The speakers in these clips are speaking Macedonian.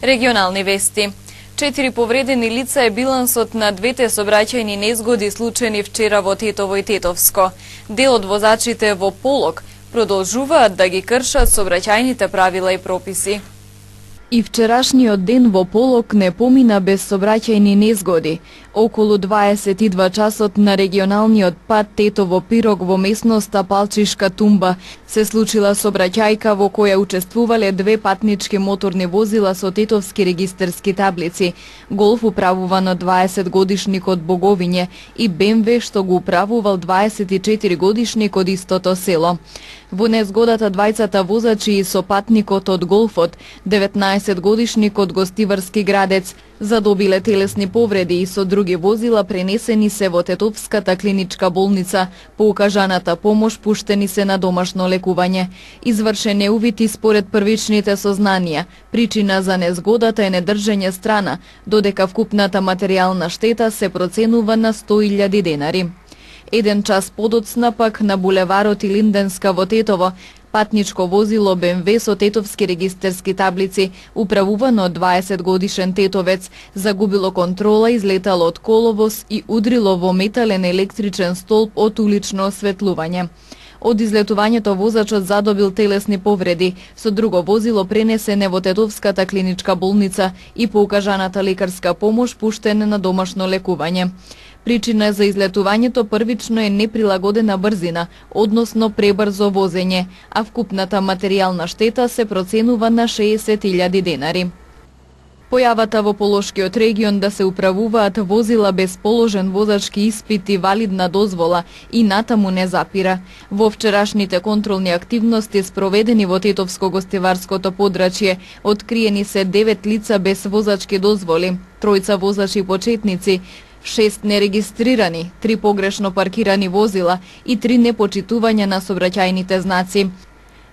Регионални вести. 4 повредени лица е билансот на двете сообраќајни незгоди случени вчера во Тетово и Тетовско. Дел од возачите во Полог продолжуваат да ги кршат сообраќајните правила и прописи. И вчерашниот ден во Полог не помина без сообраќајни незгоди. Околу 22 часот на регионалниот пат Тетово-Пирог во местноста Палчишка Тумба се случила сообраќајка во која учествувале две патнички моторни возила со тетовски регистерски таблици. Голф управуван од 20 годишник од Боговиње и БМВ што го управувал 24 годишник од истото село. Во незгодата двајцата возачи и со патникот од Голфот, 19 годишник од Гостиварски Градец, задобиле телесни повреди и со други возила пренесени се во Тетовската клиничка болница, по укажаната помош пуштени се на домашно лекување. Извршен е увид и според првичните сознанија. Причина за незгодата е недржење страна, додека вкупната материјална штета се проценува на 100.000 денари. Еден час подоцна пак на булеварот Илинденска во Тетово, патничко возило БМВ со тетовски регистерски таблици, управувано од 20 годишен тетовец, загубило контрола, излетало од коловоз и удрило во метален електричен столб од улично осветлување. Од излетувањето возачот задобил телесни повреди, со друго возило пренесене во Тетовската клиничка болница и по укажаната лекарска помош пуштене на домашно лекување. Причина за излетувањето првично е неприлагодена брзина, односно пребрзо возење, а вкупната материјална штета се проценува на 60.000 денари. Појавата во Полошкиот регион да се управуваат возила без положен возачки испит и валидна дозвола и натаму не запира. Во вчерашните контролни активности спроведени во Тетовско-гостиварското подрачје, откриени се 9 лица без возачки дозволи, 3 возачи почетници, 6 нерегистрирани, 3 погрешно паркирани возила и 3 непочитувања на сообраќајните знаци.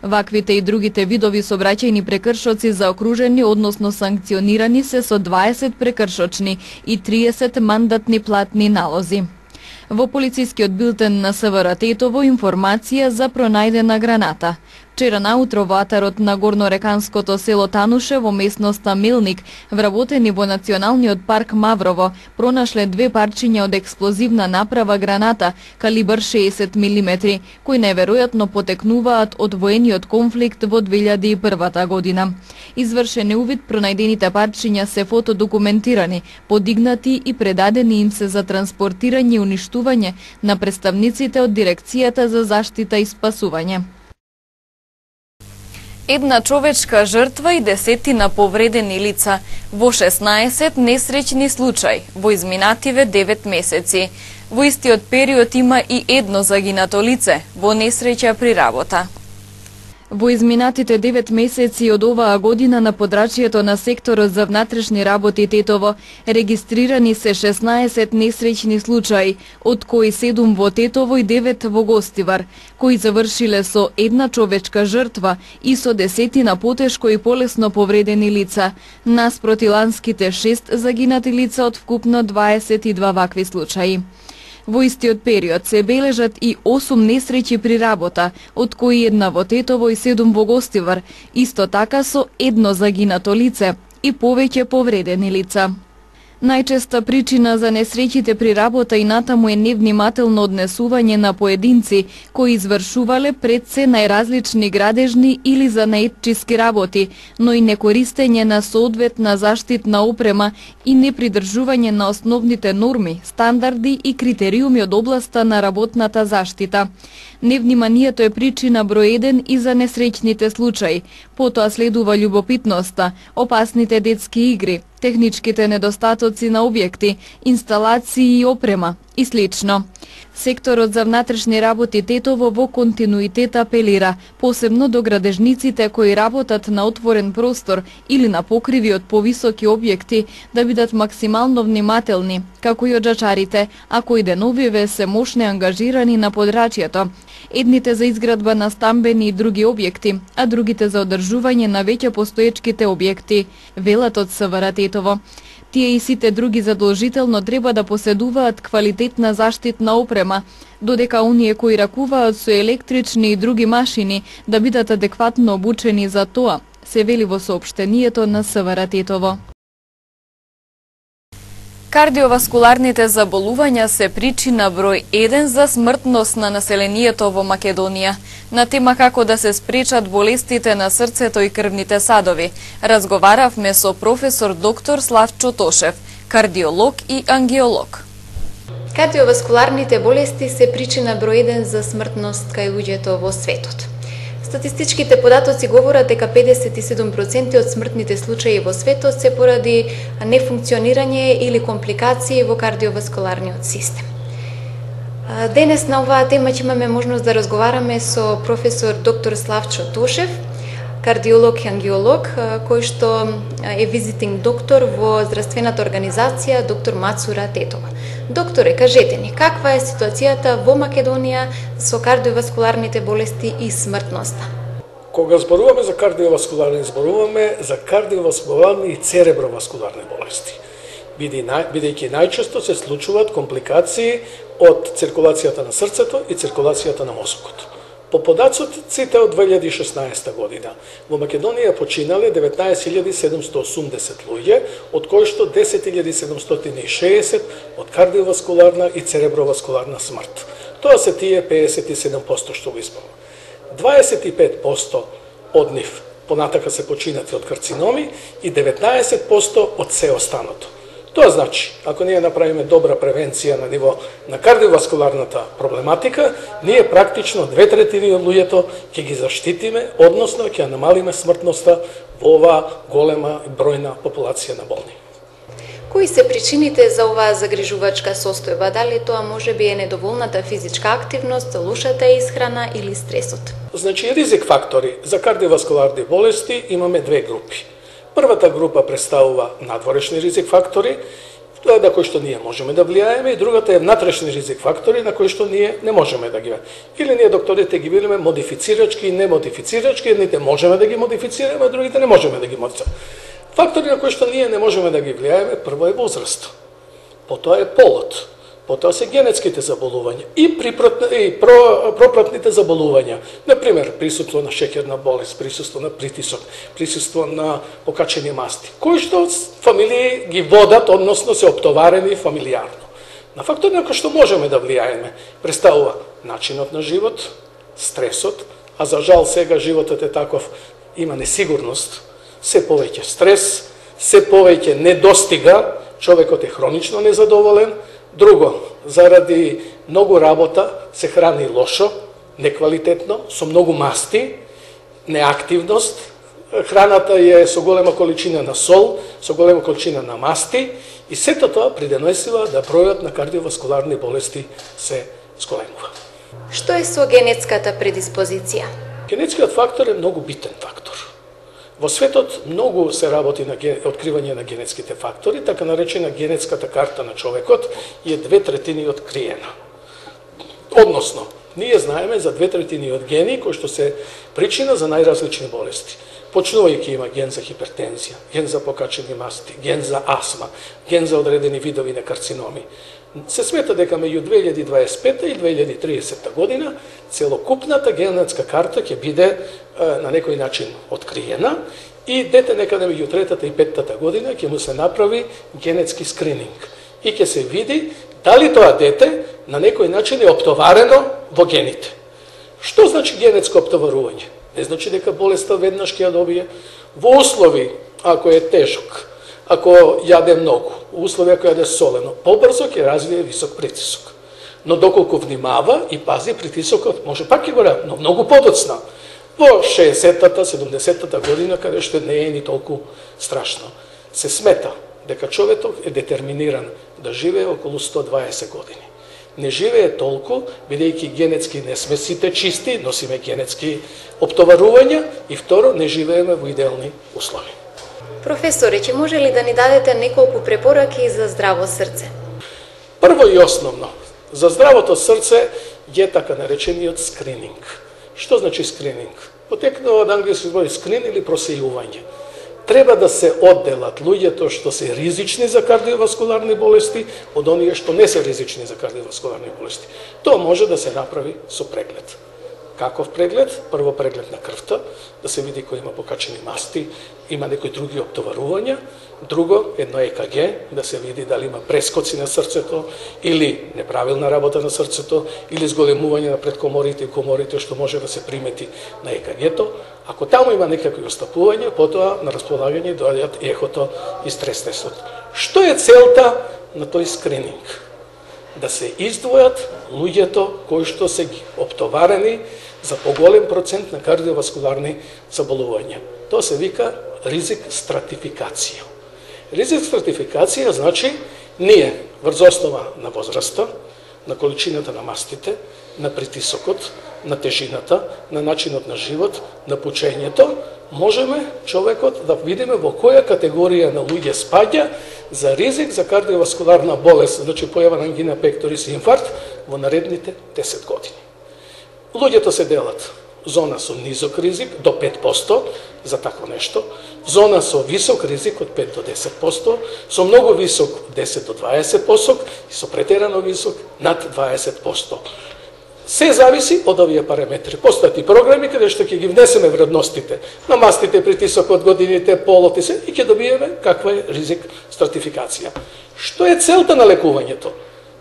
Ваквите и другите видови сообраќајни прекршоци заокружени, односно санкционирани се со 20 прекршочни и 30 мандатни платни налози. Во полицискиот билтен на СВР Тетово информација за пронајдена граната. Вчера наутро во атарот на горнореканското село Тануше во местноста Мелник, вработени во Националниот парк Маврово, пронашле 2 парчиња од експлозивна направа граната калибар 60 мм, кои неверојатно потекнуваат од воениот конфликт во 2001 година. Извршен е увид, пронајдените парчиња се фотодокументирани, подигнати и предадени им се за транспортирање и уништување на представниците од Дирекцијата за заштита и спасување. Една човечка жртва и 10 повредени лица во 16 несреќни случаи во изминативе 9 месеци. Во истиот период има и едно загинато лице во несреќа при работа. Во изминатите 9 месеци од оваа година на подрачјето на секторот за внатрешни работи Тетово регистрирани се 16 несреќни случаи, од кои 7 во Тетово и 9 во Гостивар, кои завршиле со една човечка жртва и со 10 потешко и полесно повредени лица, наспроти ланските 6 загинати лица од вкупно 22 вакви случаи. Во истиот период се бележат и 8 несреќи при работа, од кои една во Тетово и 7 во Гостивар, исто така со едно загинато лице и повеќе повредени лица. Најчеста причина за несреќите при работа и натаму е невнимателно однесување на поединци кои извршувале пред се најразлични градежни или занаетчиски работи, но и некористење на соодветна заштитна опрема и непридржување на основните норми, стандарди и критериуми од областа на работната заштита. Невниманието е причина број 1 и за несреќните случаи. Потоа следува љубопитноста, опасните детски игри, техничките недостатоци на објекти, инсталации и опрема и слично. Секторот за внатрешни работи Тетово во континуитет апелира, посебно до градежниците кои работат на отворен простор или на покриви од повисоки објекти, да бидат максимално внимателни, како и оджачарите, а кои деновиве се мошне ангажирани на подрачјето. Едните за изградба на стамбени и други објекти, а другите за одржување на веќе постоечките објекти, велат од СВР Тетово. Тие и сите други задолжително треба да поседуваат квалитетна заштитна опрема, додека оние кои ракуваат со електрични и други машини да бидат адекватно обучени за тоа се вели во соопштението на СВР Тетово. Кардиоваскуларните заболувања се причина број 1 за смртност на населението во Македонија. На тема како да се спречат болестите на срцето и крвните садови, разговаравме со професор доктор Славчо Тошев, кардиолог и ангиолог. Кардиоваскуларните болести се причина број 1 за смртност кај луѓето во светот. Статистичките податоци говорат дека 57% од смртните случаи во светот се поради нефункционирање или компликации во кардиоваскуларниот систем. Денес на оваа тема ќе имаме можност да разговараме со професор доктор Славчо Тошев, кардиолог и ангиолог, кој што е визитинг доктор во здравствената организација доктор Мацура Тетова. Докторе, кажете ни, каква е ситуацијата во Македонија со кардиоваскуларните болести и смртноста? Кога зборуваме за кардиоваскуларни, зборуваме за кардиоваскуларни и цереброваскуларни болести, бидејќи најчесто се случуваат компликации од циркулацијата на срцето и циркулацијата на мозокот. По податоците од 2016 година, во Македонија починале 19.780 луѓе, од кои што 10.760 од кардиоваскуларна и цереброваскуларна смрт. Тоа се тие 57% што го исполнува. 25% од нив понатака се починати од карциноми и 19% од се останато. Тоа значи, ако ние направиме добра превенција на ниво на кардиоваскуларната проблематика, ние практично 2/3 од луѓето ќе ги заштитиме, односно ќе намалиме смртноста во оваа голема бројна популација на болни. Кои се причините за оваа загрижувачка состојба? Дали тоа можеби е недоволната физичка активност, лошата исхрана или стресот? Значи, ризик фактори за кардиоваскуларни болести имаме две групи. Првата група представува надворешни ризик фактори, на кои што ние можеме да влијаеме, и другата е внатрешни ризик фактори на кои што ние не можеме да ги. Или ние докторите ги видиме модифицирачки и немодифицирачки, едните можеме да ги модифицираме, а другите не можеме да ги модифицираме. Фактори на кои што ние не можеме да ги влијаеме, прво е возраст, потоа е полот, потоа се генетските заболувања и пропратните заболувања. Например, присуство на шеќерна болест, присуство на притисок, присуство на покачени масти, кои што фамилии ги водат, односно се оптоварени фамилијарно. На фактори на кои што можеме да влијаеме представува начинот на живот, стресот, а за жал сега животот е таков, има несигурност, се повеќе стрес, се повеќе недостига, човекот е хронично незадоволен. Друго, заради многу работа се храни лошо, неквалитетно, со многу масти, неактивност, храната е со голема количина на сол, со голема количина на масти и сето тоа придонесува да бројот на кардиоваскуларни болести се зголемува. Што е со генетската предиспозиција? Генетскиот фактор е многу битен фактор. Во светот многу се работи на откривање на генетските фактори, така наречена генетската карта на човекот е 2/3 откриена. Односно, ние знаеме за 2/3 од гени кои што се причина за најразлични болести. Почнувајќи има ген за хипертензија, ген за покачени масти, ген за астма, ген за одредени видови на карциноми. Се смета дека меѓу 2025 и 2030 година целокупната генетска карта ќе биде на некој начин откриена и дете некаде меѓу 3-та и 5-та година ќе му се направи генетски скрининг и ќе се види дали тоа дете на некој начин е оптоварено во гените. Што значи генетско оптоварување? Не значи дека болеста веднаш ќе ја добие. Во услови, ако е тежок, ако јаде многу, во услови ако јаде солено, побрзо ќе развие висок притисок. Но доколку внимава и пази притисокот, може пак ќе го ради, но многу подоцна. Во 60-та, 70-та година, каде што не е ни толку страшно. Се смета дека човекот е детерминиран да живее околу 120 години. Не живее толку, бидејќи генетски не сме сите чисти, носиме генетски оптоварувања и второ, не живееме во идеални услови. Професоре, ќе може ли да ни дадете неколку препораки за здраво срце? Прво и основно, за здравото срце е така наречениот скрининг. Што значи скрининг? Потекнува од англиски збор скрин или просејување. Треба да се одделат луѓето што се ризични за кардиоваскуларни болести од оние што не се ризични за кардиоваскуларни болести. Тоа може да се направи со преглед. Каков преглед? Прво преглед на крвта, да се види кој има покачени масти, има некои други обтоварувања. Друго, едно ЕКГ, да се види дали има прескоци на срцето, или неправилна работа на срцето, или зголемување на предкоморите и коморите, што може да се примети на ЕКГ-то. Ако таму има некакви остапувања, потоа на располагање доаѓаат ехото и стрес тестот. Што е целта на тој скрининг? Да се издвојат луѓето кои што се обтоварени за поголем процент на кардиоваскуларни заболувања. Тоа се вика ризик стратификација. Ризик стратификација значи ние врз основа на возраста, на количината на мастите, на притисокот, на тежината, на начинот на живот, на пучењето, можеме човекот да видиме во која категорија на луѓе спаѓа за ризик за кардиоваскуларна болест, значи појава на ангина пекторис и инфаркт во наредните 10 години. Луѓето се делат зона со низок ризик до 5% за такво нешто, зона со висок ризик од 5 до 10%, со многу висок 10 до 20% и со претерано висок над 20%. Се зависи од овие параметри. Постојат и програми каде што ќе ги внесеме вредностите на мастите, притисокот, годините, полот и се, и ќе добиеме каква е ризик стратификација. Што е целта на лекувањето?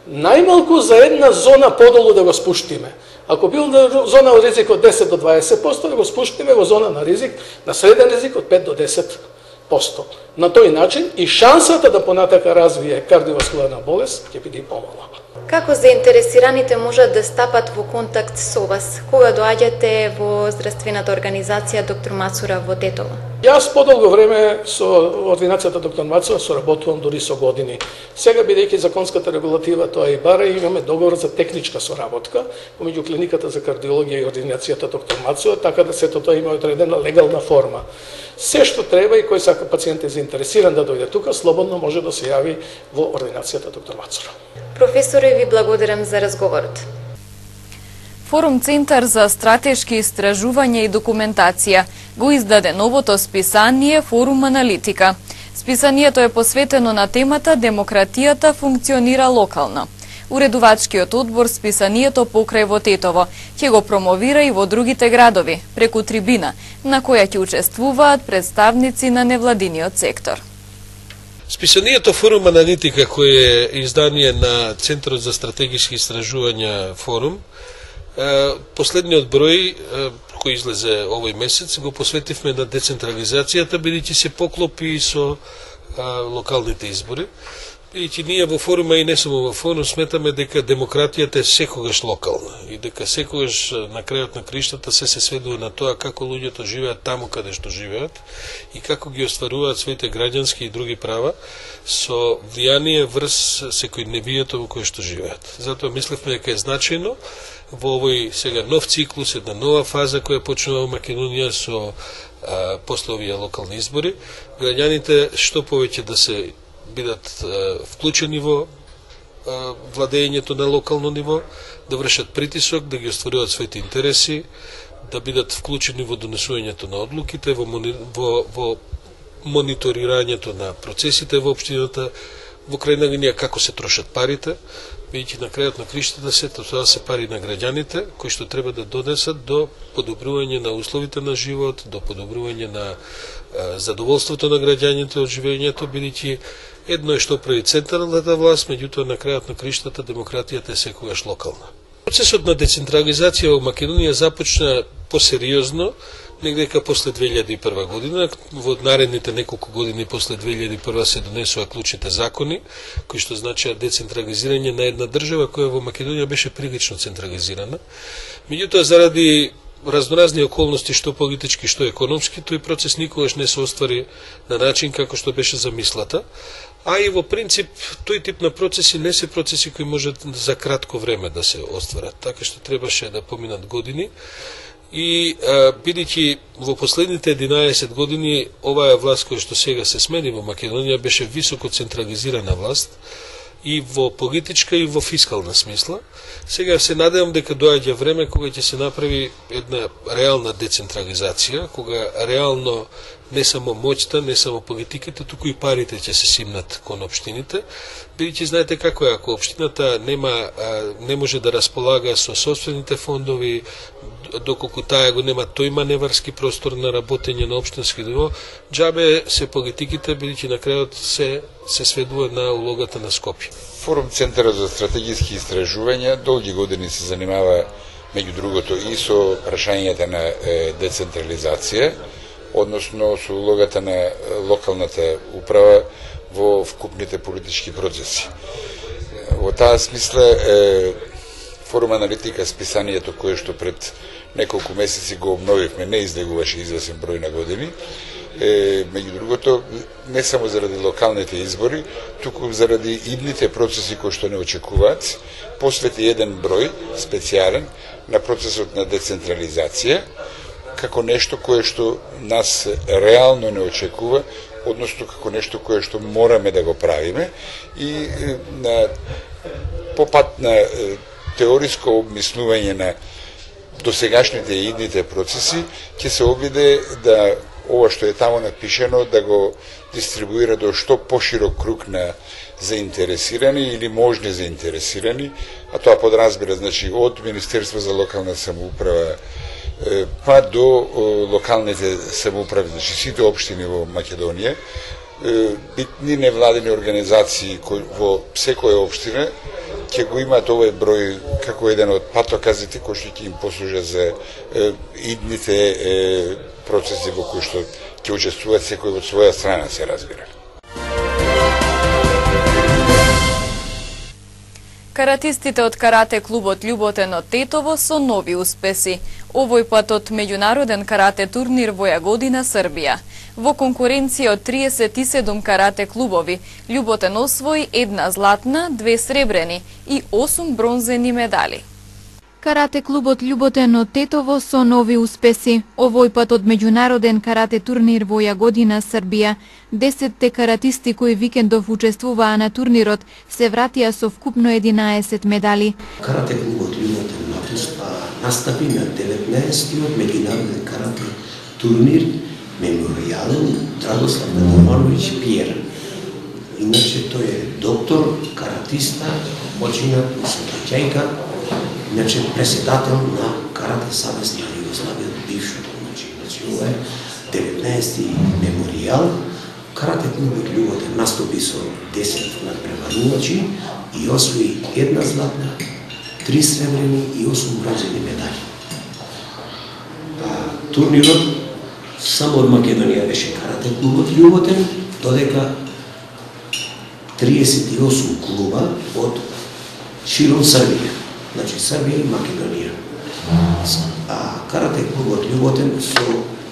Најмалку за една зона подолу да го спуштиме. Ако бил на зона од ризик од 10 до 20%, да го спуштиме во зона на ризик, на среден ризик од 5 до 10%. На тој начин и шансата да понатака развие кардиоваскуларна болест ќе биде помала. Како заинтересираните можат да стапат во контакт со вас? Кога доаѓате во здравствената организација Доктор Мацура во Тетово? Јас подолго време со ординацијата Доктор Мацура соработувам дури со години. Сега, бидејќи законската регулатива тоа и бара, имаме договор за техничка соработка помеѓу клиниката за кардиологија и ординацијата Доктор Мацура, така да сето тоа има одредена легална форма. Се што треба и кој сака пациент е заинтересиран да дојде тука, слободно може да се јави во ординацијата Доктор Мацура. Професоре, ви благодарам за разговорот. Форум Центар за стратешки истражувања и документација го издаде новото списание Форум Аналитика. Списанието е посветено на темата Демократијата функционира локално. Уредувачкиот одбор списанието покрај во Тетово ќе го промовира и во другите градови, преку трибина, на која ќе учествуваат представници на невладиниот сектор. Списанието Форум Аналитика, кој е издание на Центарот за стратегиски истражувања Форум, последниот број кој излезе овој месец го посветивме на децентрализацијата, бидејќи се поклопи со локалните избори. Бидејќи ние во Форума и не само во Форум сметаме дека демократијата е секогаш локална и дека секогаш на крајот на криштата се сведува на тоа како луѓето живеат таму каде што живеат и како ги остваруваат своите граѓански и други права со влијание врз секој невијето во кое што живеат. Затоа мислевме дека е значајно во овој сега нов циклус, една нова фаза која почнува во Македонија со после овие локални избори, граѓаните што повеќе да се бидат вклучени во владењето на локално ниво, да вршат притисок, да ги остваруваат своите интереси, да бидат вклучени во донесувањето на одлуките, во мониторирањето на процесите во општината, во крајна линија како се трошат парите, бидејќи на крајот на криштата сето тоа се пари на граѓаните, кои што треба да донесат до подобрување на условите на живот, до подобрување на задоволството на граѓаните од живењето, бидејќи едно е што прави централната власт, меѓутоа на крајот на криштата демократијата е секогаш локална. Процесот на децентрализација во Македонија започна посериозно негдека после 2001 година. Во наредните неколку години после 2001 се донесува клучните закони, кои што значеа децентрализирање на една држава која во Македонија беше прилично централизирана. Меѓутоа, заради разноразни околности, што политички, што економски, тој процес никогаш не се оствари на начин како што беше замислата. А и во принцип, тој тип на процеси не се процеси кои можат за кратко време да се остварат. Така што требаше да поминат години. И бидејќи во последните 11 години оваа власт која што сега се смени во Македонија беше високо централизирана власт и во политичка и во фискална смисла, сега се надевам дека доаѓа време кога ќе се направи една реална децентрализација, кога реално не само моќта, не само политиката, туку и парите ќе се симнат кон општините. Бидејќи знаете како е, ако општината не може да располага со собствените фондови, доколку таа го нема тој маневарски простор на работење на општински ниво, џабе се политиките, бидејќи на крајот се сведува на улогата на Скопје. Форум Центарот за стратегиски истражувања долги години се занимава меѓу другото и со прашањата на децентрализација, односно со улогата на локалната управа во вкупните политички процеси. Во таа смисла Форум Аналитика, списанието кое што пред неколку месеци го обновивме, не излегуваше известен број на години, меѓу другото, не само заради локалните избори, туку заради идните процеси кои што не очекуваат, посвети еден број специјален на процесот на децентрализација, како нешто кое што нас реално не очекува, односно како нешто кое што мораме да го правиме и по пат на теориско обмислување на досегашните и идните процеси, ќе се обиде да ова што е тамо напишено да го дистрибуира до што поширок круг на заинтересирани или можни заинтересирани, а тоа подразбира, значи, од Министерство за локална самоуправа па до локалните самоуправи, значи сите општини во Македонија, битни невладени организации во секоја општина ќе го имаат овој број како еден од патоказите кои што ќе им послужат за идните процеси во кои што ќе учествуваат секој од своја страна, се разбира. Каратистите од карате клубот Љуботен од Тетово со нови успеси. Овој пат од меѓународен карате турнир во Јагодина, Србија. Во конкуренција од 37 карате клубови, Љуботен освои 1 златна, 2 сребрени и 8 бронзени медали. Карате клубот Љуботен од Тетово со нови успеси. Овој пат од меѓународен карате турнир во Јагодина, Србија. 10 каратисти кои викендов учествуваа на турнирот се вратија со вкупно 11 медали. Карате клубот Љуботен настапи на 19-тиот меѓународен карате турнир меморијален Драгослав Романович Пиер. Иначе тој е доктор, каратиста, починат усвојајка, иначе преседател на Карате Савез на Југославија, бившото, значи ова е 19-ти меморијал. Карате клубот Љуботен настапи со 10 надпреварувачи и освои 1 златна, 3 сребрени и 8 бронзени медали. Турнирот само од Македонија беше карате клубот Љуботен, додека 38 клуба од широм Србија, значи Србија и Македонија. Карате клубот Љуботен со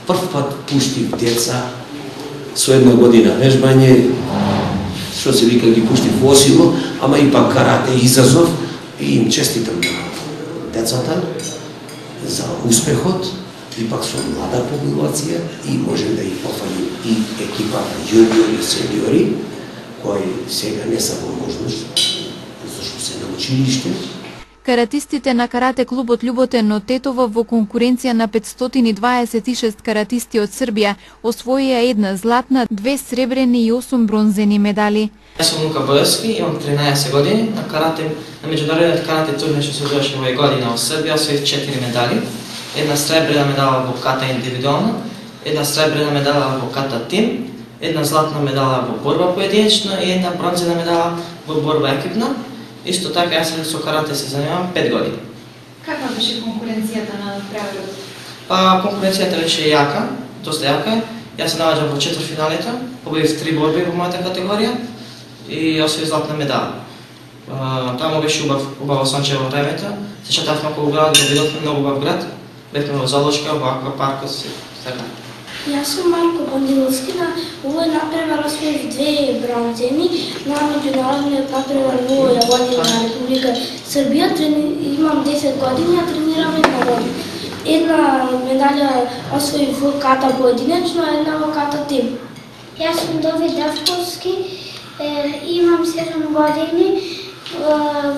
прв пат пушти деца со 1 година вежбање, што се вика ги пушти во сило, ама и пак карате изазов и им честитам на децата за успехот, и пак со млада популација и можем да ги пофалим и екипата јуниори и сениори, кои сега не са во можност, зашто се на училиште. Каратистите на карате клубот Љуботен од Тетово во конкуренција на 526 каратисти од Србија освоија 1 златна, 2 сребрени и 8 бронзени медали. Јас сум Лука Бојовски, имам 13 години, на меѓународниот карате турнир што се одржаше во Јагодина во Србија, освоив 4 медали. 1 сребрена медала во ката индивидуална, 1 сребрена медала во ката тим, 1 златна медала во борба поединечна и 1 бронзена медала во борба екипна. Исто така јас со карате се занимавам 5 години. Каква беше конкуренцијата на правилот? Конкуренцијата беше јака, доста јака. Јас се наоѓам во четвртфиналите, победив 3 борби во мојата категорија и освоив златна медала. Таму беше убаво сончево времето. Се шетавме околу град, видовме многу убав град. Бевме во Залошка, во аквапаркот и така. Јас сум Марко Бандиловски, на овој надпревар освоив 2 бронзени на меѓународниот надпревар во Јагодина на Република Србија. Имам 10 години, а тренирам 1 година. 1 медалја освоив во ката поединечно, а 1 во ката тим. Јас сум Давид Давковски, имам 7 години.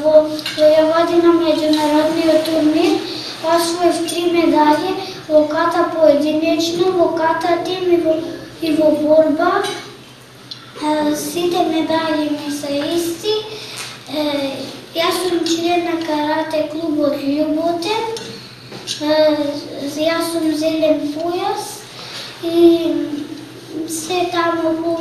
Во Јагодина меѓународниот турнир освоив 3 медали во ката поединечно, во ката тим и во и во борба. Сите медали ми се исти. Јас сум член на карате клубот Љуботен. Јас сум зелен појас и се таму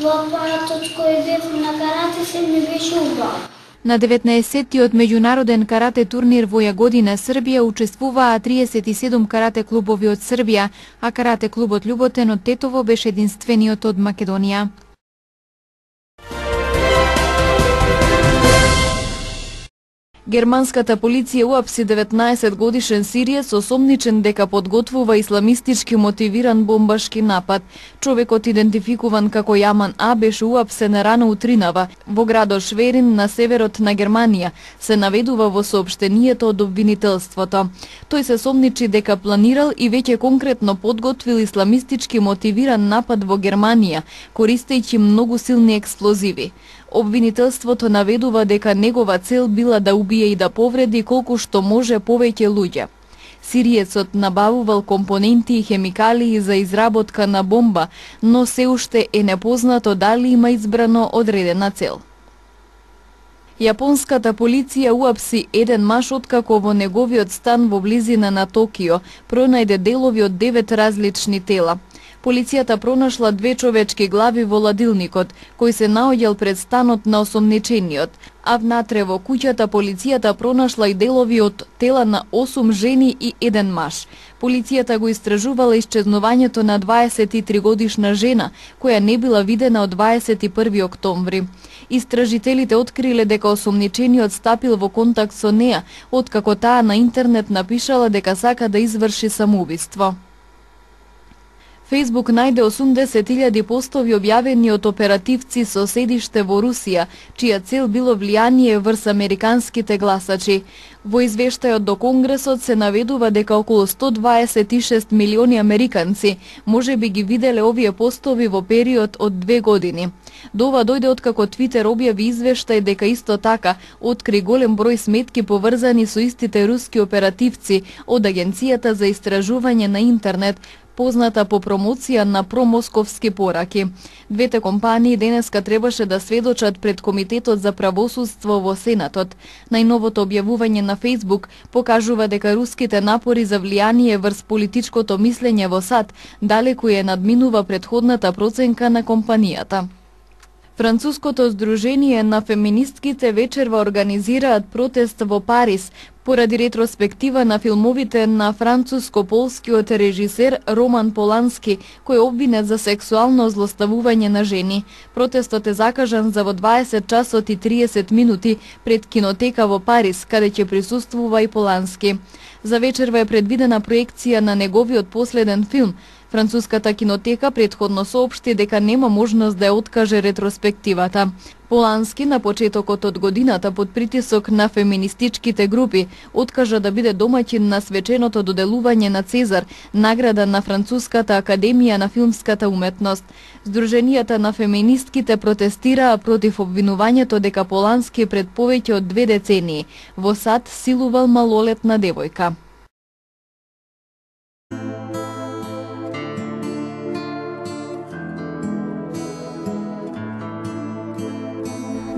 во апаратот кој бев на карате се ми беше убаво. На 19-тиот меѓународен карате турнир во Јагодина, Србија, учествуваа 37 карате клубови од Србија, а карате клубот Љуботен од Тетово беше единствениот од Македонија. Германската полиција уапси 19-годишен сириец осомничен дека подготвува исламистички мотивиран бомбашки напад. Човекот, идентификуван како Јаман А, беше уапсен рано утринава во градот Шверин на северот на Германија, се наведува во соопштението од обвинителството. Тој се сомничи дека планирал и веќе конкретно подготвил исламистички мотивиран напад во Германија, користејќи многу силни експлозиви. Обвинителството наведува дека негова цел била да убие и да повреди колку што може повеќе луѓе. Сириецот набавувал компоненти и хемикалии за изработка на бомба, но се уште е непознато дали има избрано одредена цел. Јапонската полиција уапси еден маж откако во неговиот стан во близина на Токио пронајде делови од 9 различни тела. Полицијата пронашла 2 човечки глави во ладилникот, кој се наоѓал пред станот на осомничениот, а внатре во куќата полицијата пронашла и делови од тела на 8 жени и 1 маж. Полицијата го истражувала исчезнувањето на 23-годишна жена, која не била видена од 21 октомври. Истражителите откриле дека осомничениот стапил во контакт со неа, откако таа на интернет напишала дека сака да изврши самоубиство. Фејсбук најде 80.000 постови објавени од оперативци со седиште во Русија, чија цел било влијание врз американските гласачи. Во извештајот до Конгресот се наведува дека околу 126 милиони американци може би ги виделе овие постови во период од 2 години. До ова дојде откако Твитер објави извештај дека исто така откри голем број сметки поврзани со истите руски оперативци од Агенцијата за истражување на интернет, позната по промоција на промосковски пораки. Двете компании денеска требаше да сведочат пред Комитетот за правосудство во Сенатот. Најновото објавување на Фејсбук покажува дека руските напори за влијание врз политичкото мислење во САД далеку ја надминува претходната проценка на компанијата. Француското здружение на феминистките вечерва организираат протест во Париз поради ретроспектива на филмовите на француско-полскиот режисер Роман Полански, кој е обвинет за сексуално злоставување на жени. Протестот е закажан за во 20 часот и 30 минути пред кинотека во Париз, каде ќе присуствува и Полански. За вечерва е предвидена проекција на неговиот последен филм. Француската кинотека претходно соопшти дека нема можност да ја откаже ретроспективата. Полански на почетокот од годината под притисок на феминистичките групи откажа да биде домаќин на свеченото доделување на Цезар, награда на Француската академија на филмската уметност. Здруженијата на феминистките протестираа против обвинувањето дека Полански пред повеќе од 2 децении во САД силувал малолетна девојка.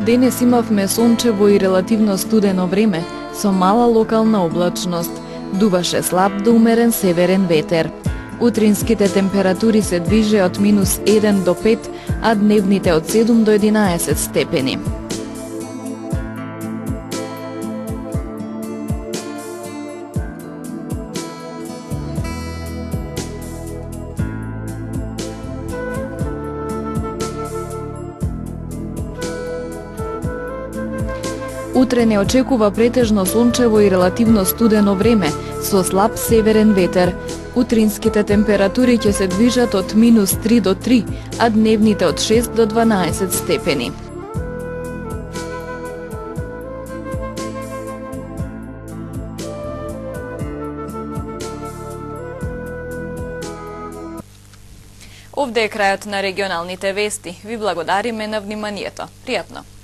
Денес имавме сончево и релативно студено време, со мала локална облачност. Дуваше слаб до умерен северен ветер. Утринските температури се движеа од -1 до 5, а дневните од 7 до 11 степени. Утре не очекува претежно сончево и релативно студено време, со слаб северен ветер. Утринските температури ќе се движат од -3 до 3, а дневните од 6 до 12 степени. Овде е крајот на регионалните вести. Ви благодариме на вниманието. Пријатно!